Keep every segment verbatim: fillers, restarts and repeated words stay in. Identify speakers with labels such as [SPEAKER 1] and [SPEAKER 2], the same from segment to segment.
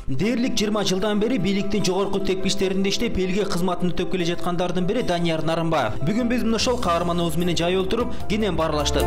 [SPEAKER 1] Дээрлик жыйырма жылдан бери бийликтин жогорку тепкичтеринде иштеп, элге кызматын өтөп келе жаткандардын бири Данияр Нарымбаев. Бүгүн биз мына ошол каарманыбыз менен жай отуруп, кенен баарлаштык.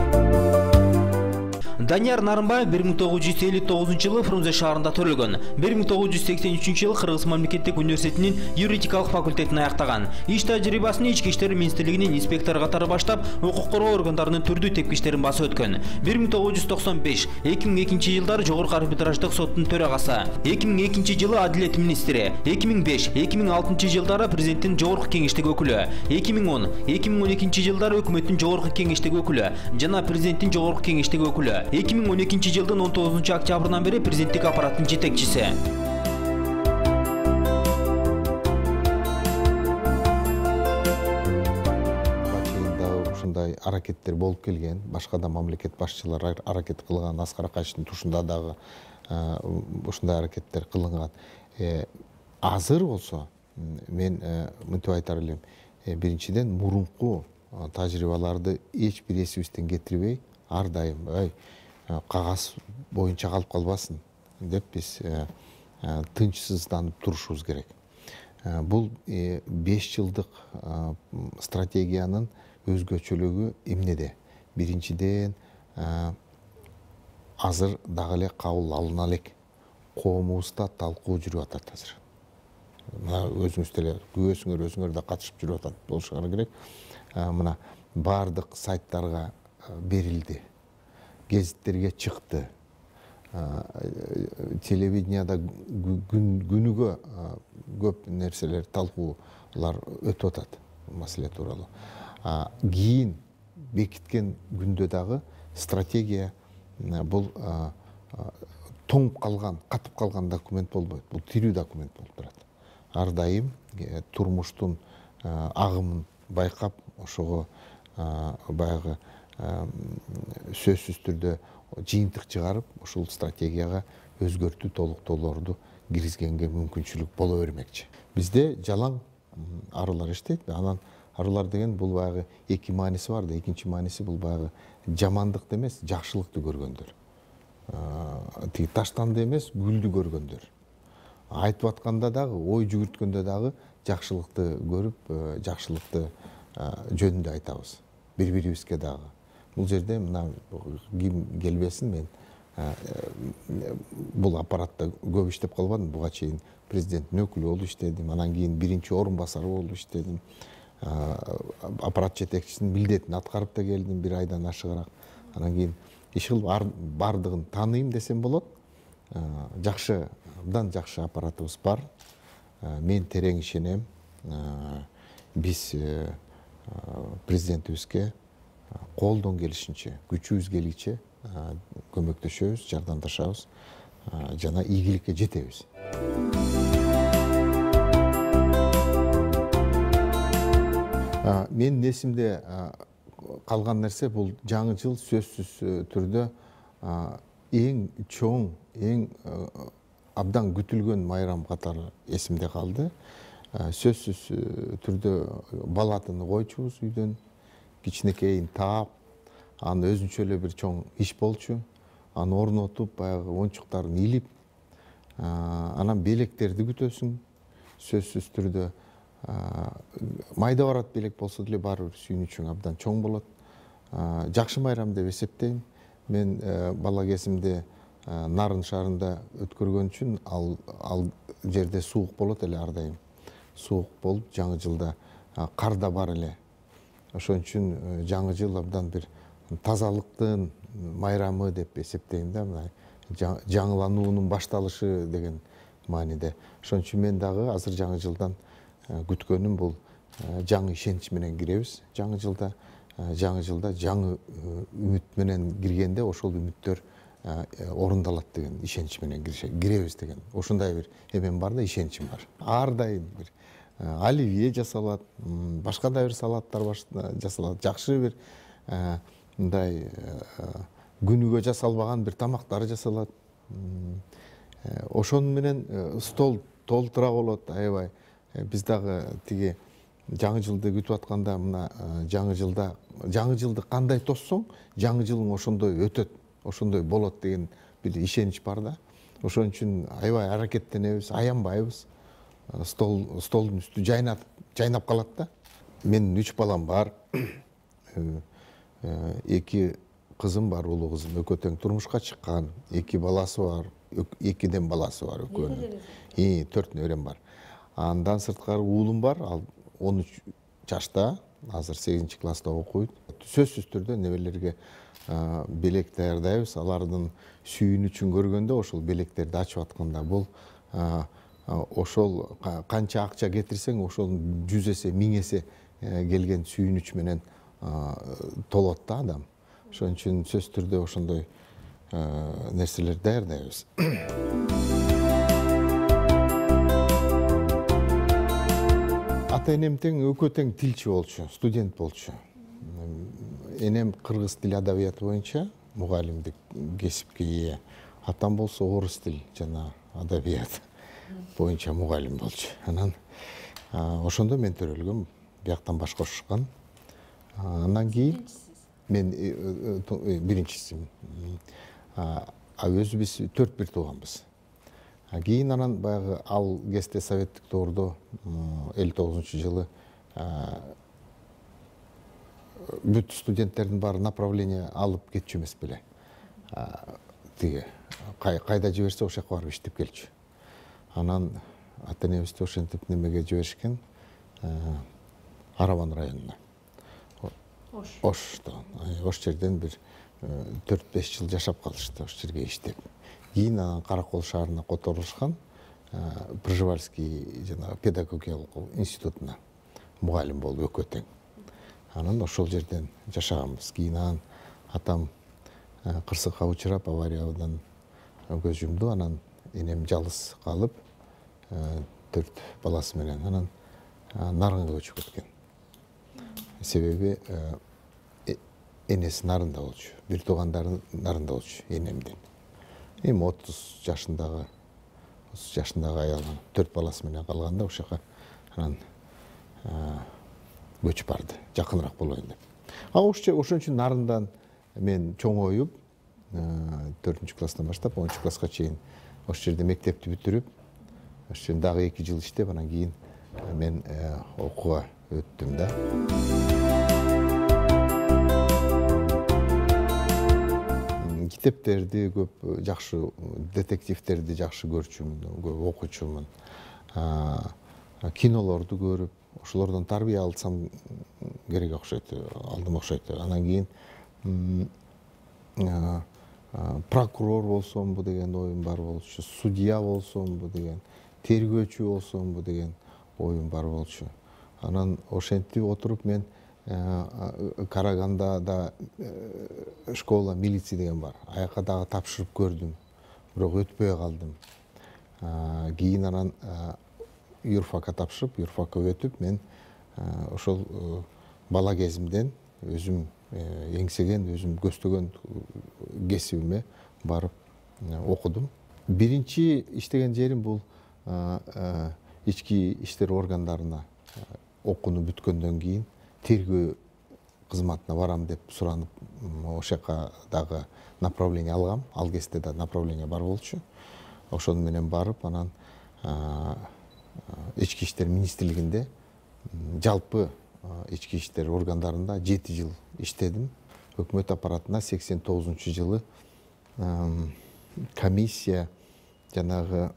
[SPEAKER 1] Данияр Нарымбаев бир миң тогуз жүз элүү тогузунчу жылы Фрунзе шаарында төрөлгөн. бир миң тогуз жүз сексен үчүнчү жылы Кыргыз мамлекеттик университетинин юридикалык факультетин аяктаган. Иш тажрыйбасын Ички иштер министрлигинин инспектору катары баштап, укук коргоо органдарынын түрдүү тепкичтерин басып өткөн. бир миң тогуз жүз токсон беш эки миң экинчи жылдары Жогорку арбитраждык соттун төрагасы, эки миң экинчи жылы Адилет министри, эки миң беш эки миң алтынчы жылдары президенттин жогорку кеңештик өкүлү, эки миң он эки миң он экинчи жылдары өкмөттүн жогорку кеңештик өкүлү жана президенттин жогорку кеңештик өкүлү. эки миң он экинчи жылдын он тогузунчу октябрынан бери президенттик аппараттын жетекчиси.
[SPEAKER 2] Ушундай аракеттер болуп келген, башка да мамлекет башчылары аракет кылган, Аскар Акаевдин тушунда дагы ушундай аракеттер кылынган. Азыр болсо мен мынтип айтар элем, биринчиден мурунку тажрыйбаларды эч бир эсибизден кетирбей, ар дайым кагаз боюнча калып калбасын деп биз тынчсызданып турушубуз керек. Бул беш жылдык стратегиянын өзгөчөлүгү эмнеде? Биринчиден, азыр дагы эле кабыл алына элек коомубузда талкуу жүрүп атат азыр. Мына өзүңүз деле күбөсүңөр, өзүңөр да катышып жүрүп атат болушуңар керек. Мына бардык сайттарга берилди. Гезиттерге чыкты. Телевиденияда күнүгө көп нерселер, талкуулар өтүп атат маселе тууралуу. Кийин бекиткен күндө дагы стратегия бул тоңуп калган, катып калган документ болбойт. Бул тирүү документ болуп турат. Ар дайым турмуштун агымын байкап, ошого баягы сөзсүз түрдө жыйынтык чыгарып, ушул стратегияга өзгөртүү толуктоолорду киргизгенге мүмкүнчүлүк боло бермекчи. Бизде жалаң арылар иштейт. Анан арылар деген бул баягы эки мааниси бар да. Экинчи мааниси бул баягы жамандыкты эмес, жакшылыкты көргөндөр. Тиги таштанды эмес, гүлдү көргөндөр. Айтып атканда дагы, ой жүгүрткөндө дагы жакшылыкты көрүп, жакшылыкты жөнүндө айтабыз. Бири-бирибизге дагы. Бул жерде мына ким келбесин, мен бул аппаратта көп иштеп калбадым. Буга чейин президенттин өкүлү болуп иштедим, анан кийин биринчи орун басары болуп иштедим. Аппарат жетекчисинин милдетин аткарып да келдим бир айдан ашыгыраак. Анан кийин иш кылып бардыгын тааныйм десем болот. Жакшы, абдан жакшы аппаратыбыз бар. Мен терең ишенем. Биз президентибизге колдон келишинче, күчүбүз келишинче көмөктөшөбүз, жардамдашабыз жана ийгиликке жетебиз. Мен эсимде калган нерсе бул жаңы жыл сөзсүз түрдө эң чоң, эң абдан күтүлгөн майрам катары эсимде калды. Сөзсүз түрдө бал атыны койчубуз үйдөн, кичинекейин таап, аны өзүнчө эле бир чоң иш болчу. Аны орнотуп, баягы оюнчуктарын илип, анан белектерди күтөсүң. Сөзсүз түрдө майда барат белек болсо деле баары бир сүйүнүчүң абдан чоң болот. Жакшы майрам деп эсептейм. Мен бала кезимде Нарын шаарында өткөргөн үчүн ал жерде суук болот эле ар дайым. Суук болуп, жаңы жылда кар да бар эле. Ошон үчүн жаңы жыл абдан бир тазалыктын майрамы деп эсептейм да, мына жаңылануунун башталышы деген мааниде. Ошон үчүн мен дагы азыр жаңы жылдан күткөнүм бул жаңы ишенич менен киребиз. Жаңы жылда, жаңы жылда жаңы үмүт менен киргенде ошол үмүттөр орундалат деген ишенич менен киребиз деген. Ошондой бир эмем бар да, ишеничим бар. Ар дайым бир оливье жасалат, башка да бир салаттар жасалат, жакшы бир мындай күнүгө жасалбаган бир тамактар жасалат. Ошон менен стол толтура болот, аябай. Биз дагы тиги жаңы жылды күтүп атканда, мына жаңы жылда, жаңы жылды кандай тоссоң, жаңы жылың ошондой өтөт, ошондой болот деген бир ишенич бар да. ошон үчүн аябай аракеттенебиз, аянбайбыз. Стол столдун үстү жайнап жайнап калат да. Менин үч балам бар. Эки кызым бар, улуу кызым экөө тең турмушка чыккан. Эки баласы бар, экиден баласы бар экөөнүн. И төрт неберем бар. Андан сырткары уулум бар, ал он үч жашта, азыр сегизинчи класста окуйт. Сөзсүз түрдө неберелерге белек даярдайбыз. Алардын сүйүнүчүн көргөндө ошол белектерди ачып атканда бул ошол канча акча кетирсең, ошол жүз эсе, миң эсе келген сүйүнүч менен толот да адам. Ошон үчүн сөзсүз түрдө ошондой нерселерди даярдайбыз. Ата энем тең экөө тең тилчи болчу, студент болчу. Энем кыргыз тил адабияты боюнча мугалимдик кесипке ээ. Атам болсо орус тил жана адабият боюнча мугалим болчу. Анан ошондо мен төрөлгөм, бияктан баш кошушкан. Андан кийин мен биринчисимин. А өзүбүз төрт бир тууганбыз. Кийин анан баягы ал кезде советтик доордо элүү тогузунчу жылы бүт студенттердин баары направление алып кетчү эмес беле. Тиги кайда жиберсе ошол жака барып иштеп келчү. Анан ата энебизди ошентип немеге жиберишкен, Арабан районуна. Ошто. Ош жерден бир төрт беш жыл жашап калышты, ош жерге иштеп. Кийин анан Каракол шаарына которулушкан, Пржевальский жана педагогиялык институтуна мугалим болуп экөө тең. Анан ошол жерден жашаганбыз. Кийин анан атам кырсыкка учурап, авариядан көз жумду. Анан энем жалгыз калып, төрт баласы менен анан Нарынга көчүп кеткен. Себеби энеси Нарында болчу, бир туугандары Нарында болчу энемдин. Эми отуз жашындагы отуз жашындагы аялы төрт баласы менен калганда ошол жака анан көчүп барды, жакыныраак болоюн деп. А ошон үчүн Нарындан мен чоңоюп, төртүнчү класстан баштап онунчу класска чейин ошол жерде мектепти бүтүрүп, ошол жерде дагы эки жыл иштеп, анан кийин мен окууга өттүм да. Китептерди көп, жакшы детективтерди жакшы көрчүмүн, көп окучумун. Кинолорду көрүп, ошолордон тарбия алсам керек окшойт, алдым окшойт. Анан кийин прокурор болсомбу деген оюм бар болчу, судья болсомбу деген, тергөөчү болсомбу деген оюм бар болчу. Анан ошентип отуруп мен Карагандада школа милиции деген бар. Аяка дагы тапшырып көрдүм, бирок өтпөй калдым. Кийин анан юрфакка тапшырып, юрфакка өтүп, мен ошол бала кезимден өзүм эңсеген, өзүм көздөгөн кесибиме барып окудум. Биринчи иштеген жерим бул ички иштер органдарына окууну бүткөндөн кийин тергөө кызматына барам деп суранып, ошол жака дагы направление алгам. Ал кезде да направление бар болчу. Ошол менен барып, анан ички иштер министрлигинде, жалпы ички иштер органдарында жети жыл иштедим. Өкмөт аппаратына сексен тогузунчу жылы комиссия жанагы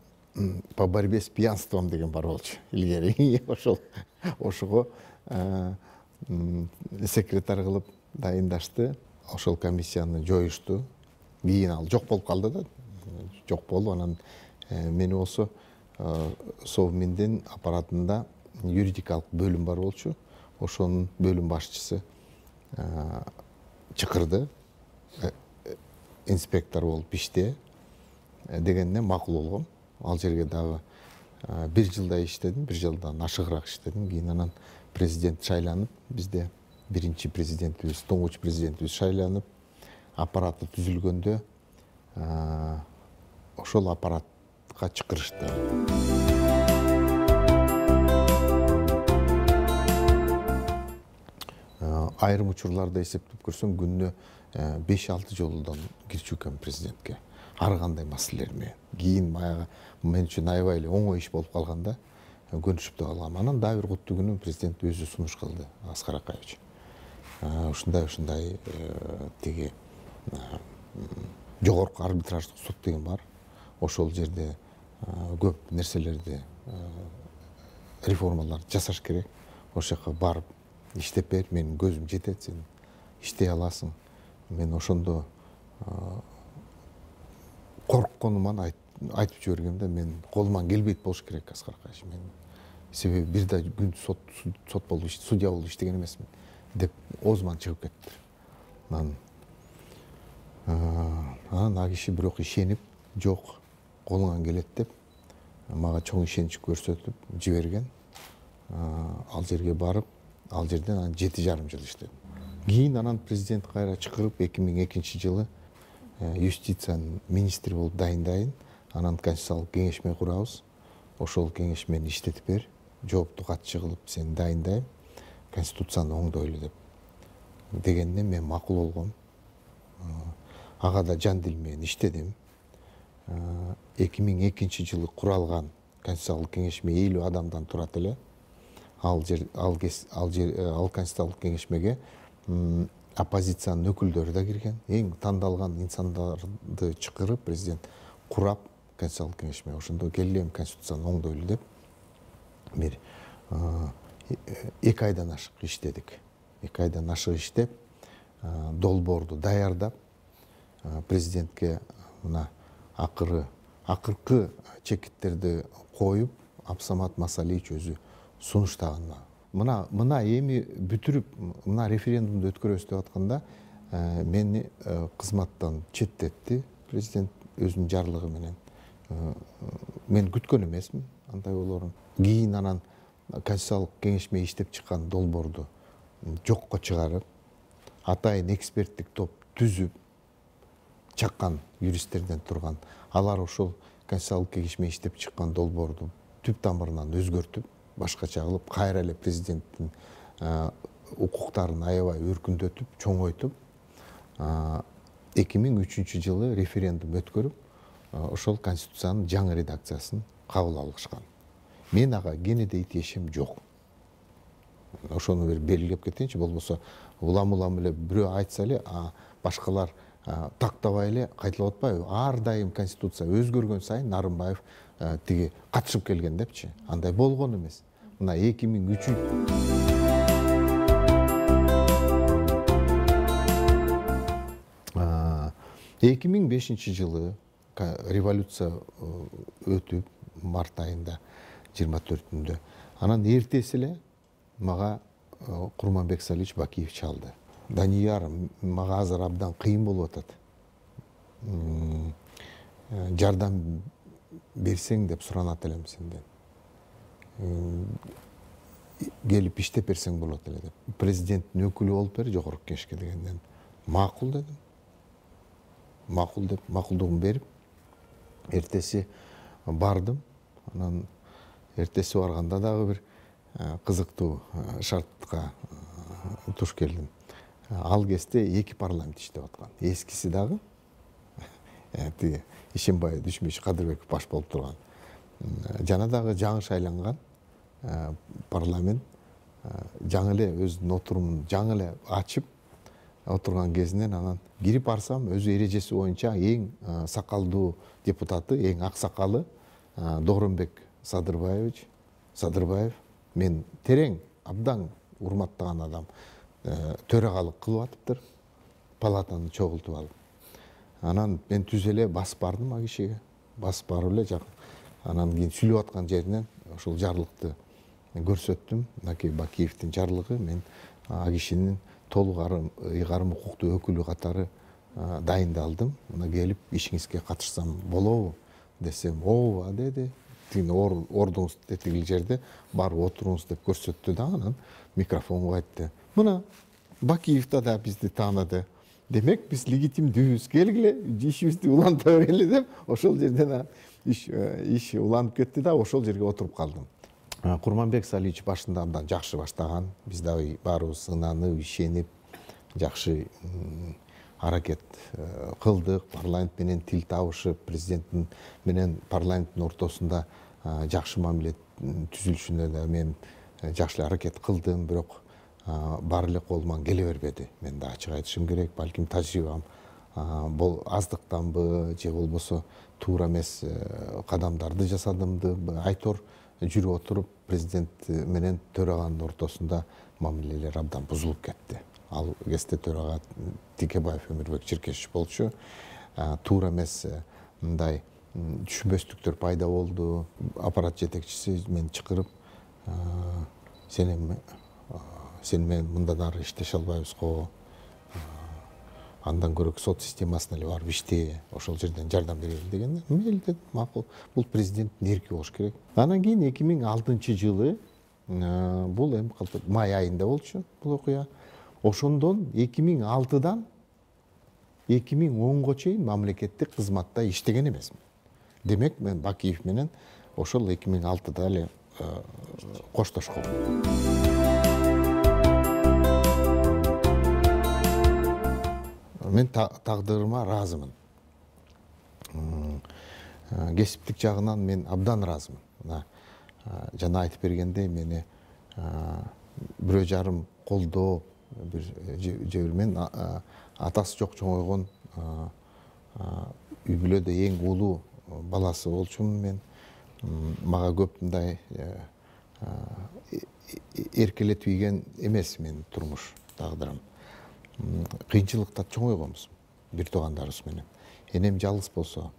[SPEAKER 2] по борьбе с пьянством деген бар болчу. Илгери ошол ошого секретарь кылып дайындашты. Ошол комиссияны жоюшту. Кийин ал жок болуп калды да. Жок болду. Анан мени болсо Совминдин аппаратында юридикалык бөлүм бар болчу. Ошонун бөлүм башчысы чакырды. Инспектор болуп иште дегенне макул болгом. Ал жерге дагы бир жылдай иштедим, бир жылдан ашыгыраак иштедим. Кийин анан президент шайланып, бизде биринчи президентибиз, туңгуч президентибиз шайланып, аппараты түзүлгөндө ошол аппаратка чакырышты. Айрым учурларда эсептеп көрсөм, күнүнө беш алты жолдон кирчү экен президентке. ар кандай маселелер менен. Кийин баягы мен үчүн аябай эле оңой иш болуп калганда көнүшүп да калгам. Анан дагы бир куттуу күнү президент өзү сунуш кылды, Аскар Акаевич. Ушундай ушундай тиги жогорку арбитраждык суд деген бар. Ошол жерде көп нерселерди реформалар жасаш керек. Ошол жака барып иштеп бер, менин көзүм жетет, сен иштей аласың. Мен ошондо коркконуман айтып жибергемде, мен колуман келбейт болуш керек Аскар Акаевич. Мен себеби бир да күн сот сот болуп судья болуп иштеген эмесмин деп оозуман чыгып кетти. Анан анан ал киши бирок ишенип, жок, колуңан келет деп мага чоң ишенич көрсөтүп жиберген. Ал жерге барып, ал жерден анан жети жарым жыл иштедим. Кийин анан президент кайра чакырып эки миң экинчи жылы юстиция министри болуп дайындайын. Анан конституциялык кеңешме курабыз. Ошол кеңеш мени иштетип бер, жоопту катчы кылып сени дайындайм, конституцияны оңдойлу деп дегенде мен макул болгом. Ага да жан дил менен иштедим. эки миң экинчи жылы куралган конституциялык кеңешме элүү адамдан турат эле. Ал жер ал ал жер ал конституциялык кеңешмеге оппозициянын өкүлдөрү да кирген. Эң тандалган инсандарды чакырып президент курап конституциялык кеңешме. Ошондо келем конституцияны оңдойлу деп бир эки айдан ашык иштедик. эки айдан ашык иштеп, долбоорду даярдап, президентке мына акыры акыркы чекиттерди коюп, Абсамат Масалиевич өзү сунуштаган. Мына мына эми бүтүрүп, мына референдумду өткөрөбүз деп атканда мени кызматтан четтетти президент өзүнүн жарлыгы менен. Мен күткөн эмесмин андай болоорун. Кийин анан конституциялык кеңешме иштеп чыккан долбоорду жокко чыгарып, атайын эксперттик топ түзүп чаккан юристтерден турган. Алар ошол конституциялык кеңешме иштеп чыккан долбоорду түп тамырынан өзгөртүп, башкача кылып, кайра эле президенттин укуктарын аябай өркүндөтүп, чоңойтуп, эки миң үчүнчү жылы референдум өткөрүп, ошол конституциянын жаңы редакциясын кабыл алышкан. Мен ага кенедей тиешем жок. Ошону бир белгилеп кетейинчи, болбосо улам-улам эле бирөө айтса эле, башкалар тактабай эле кайталап атпайбы? Ар дайым конституция өзгөргөн сайын Нарымбаев тиги катышып келген депчи. Андай болгон эмес. Мына эки миң үчүнчү эки миң бешинчи жылы революция өтүп, март айында жыйырма төртүндө. Анан эртеси эле мага Курманбек Салиевич Бакиев чалды. Данияр, мага азыр абдан кыйын болуп атат. Жардам берсең деп суранат элем сенден. Келип иштеп берсең болот эле деп. Президенттин өкүлү болуп бер жогорку кеңешке дегенден. Макул дедим. Макул деп, макулдугун берип, эртеси бардым. Анан эртеси барганда дагы бир кызыктуу шартка туш келдим. Ал кезде эки парламент иштеп аткан. Эскиси дагы тиги Ишембай Дүшмүш Кадырбеков баш болуп турган. Жана дагы жаңы шайланган парламент жаңы эле өзүнүн отурумун жаңы эле ачып отурган кезинен анан кирип барсам, өзү эрежеси боюнча эң сакалдуу депутаты, эң ак сакалы Дооронбек Садырбаевич, Садырбаев, мен терең абдан урматтаган адам, төрагалык кылып атыптыр, палатаны чогултуп алып. Анан мен түз эле басып бардым а кишиге, басып барып эле жакын. Анан кийин сүйлөп аткан жеринен ошол жарлыкты көрсөттүм. Мынакей Бакиевдин жарлыгы, мен а кишинин толук ыйгарым укуктуу өкүлү катары дайындалдым. Мына келип ишиңизге катышсам болобу десем, ооба деди. Тигин ордуңуз тетигил жерде барып отуруңуз деп көрсөттү да, анан микрофонго айтты. Мына Бакиевда да бизди тааныды. Демек биз легитимдүүбүз, келгиле ишибизди уланта берели деп, ошол жерден иш иш уланып кетти да, ошол жерге отуруп калдым. Курманбек Салиевич башында абдан жакшы баштаган. Биз дагы баарыбыз ынанып, ишенип, жакшы аракет кылдык. Парламент менен тил табышып, президенттин менен парламенттин ортосунда жакшы мамиле түзүлүшүнө да мен жакшы аракет кылдым, бирок баары эле колуман келе бербеди. Мен да ачык айтышым керек, балким тажрыйбам бул аздыктанбы же болбосо туура эмес кадамдарды жасадымды айтор жүрүп отуруп президент менен төраганын ортосунда мамилелер абдан бузулуп кетти. Ал кезде төрага Текебаев Өмүрбек Черкесович болчу. Туура эмес мындай түшүнбөстүктөр пайда болду. Аппарат жетекчиси мени чакырып, сен сен менен мындан ары иштеше албайбызго, андан көрө сот системасына эле барып иште, ошол жерден жардам берели дегенде, мейли дедим, макул. Бул президенттин эрки болуш керек. Анан кийин эки миң алтынчы жылы бул эми май айында болчу бул окуя. Ошондон эки миң алтыдан эки миң онго чейин мамлекеттик кызматта иштеген эмесмин. Демек мен Бакиев менен ошол эки миң алтыда эле коштошком. Мен тагдырыма ыраазымын. Кесиптик жагынан мен абдан ыраазымын. Жана айтып бергендей, мени бирөө жарым колдоп, бир же бир мен атасы жок чоңойгон үй бүлөдө эң улуу баласы болчумун мен. Мага көп мындай эркелетип ийген эмес менин турмуш тагдырым. Кыйынчылыкта чоңойгонбуз бир туугандарыбыз менен. Энем жалгыз болсо,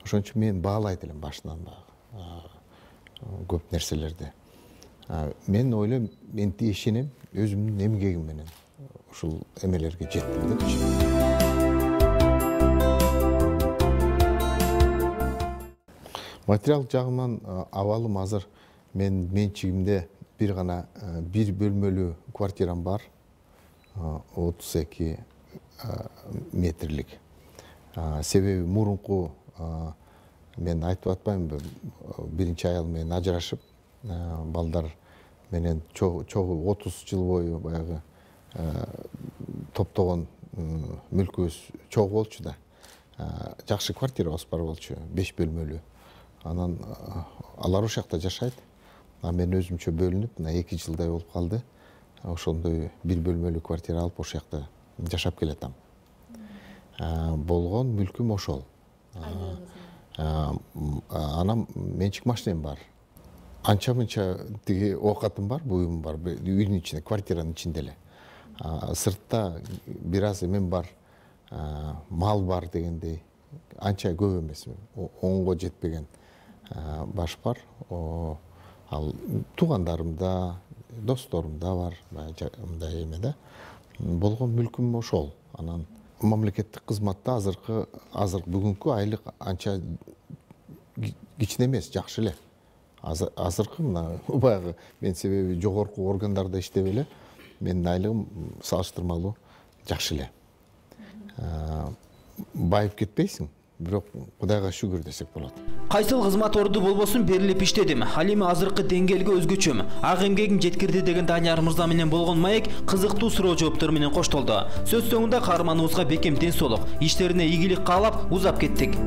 [SPEAKER 2] ошон үчүн мен баалайт элем башынан көп нерселерди. Мен ойлойм, мен ишенем, өзүмдүн эмгегим менен ушул эмелерге жеттим депчи. Материал жагынан абалым азыр мен менчигимде бир гана бир бөлмөлүү квартирам бар. отуз эки метрлик. Себеби мурунку мен айтып атпаймынбы, биринчи аял менен ажырашып, балдар менен чогуу отуз жыл бою баягы топтогон мүлкүбүз чогуу болчу да. Жакшы квартирабыз бар болчу, беш бөлмөлүү. Анан алар ошол жакта жашайт. А мен өзүмчө бөлүнүп, мына эки жылдай болуп калды. Ошондой бир бөлмөлүү квартира алып ошол жакта жашап келатам. Болгон мүлкүм ошол. Анан менчик машинем бар. Анча мынча тиги оокатым бар, буюм бар, үйдүн ичинде, квартиранын ичинде эле. Сыртта бир аз эмем бар, мал бар дегендей. Анча көп эмес, онго жетпеген баш бар. Ал туугандарымда, досторумда бар, мындай эме да. Болгон мүлкүм ошол. Анан мамлекеттик кызматта азыркы азыр бүгүнкү айлык анча кичине эмес, жакшы эле. Азыркы мына баягы мен себеби жогорку органдарда иштеп эле, менин айлыгым салыштырмалуу жакшы эле. Байып кетпейсиң, бирок Кудайга шүгүр десек болот.
[SPEAKER 1] Кайсыл кызмат орду болбосун берилип иштедим. Ал эми азыркы деңгээлге өзгөчөм. Ак эмгегим жеткирди деген Данияр мырза менен болгон маек кызыктуу суроо жооптор менен коштолду. Сөз соңунда каарманыбызга бекем ден соолук, иштерине ийгилик каалап узап кеттик.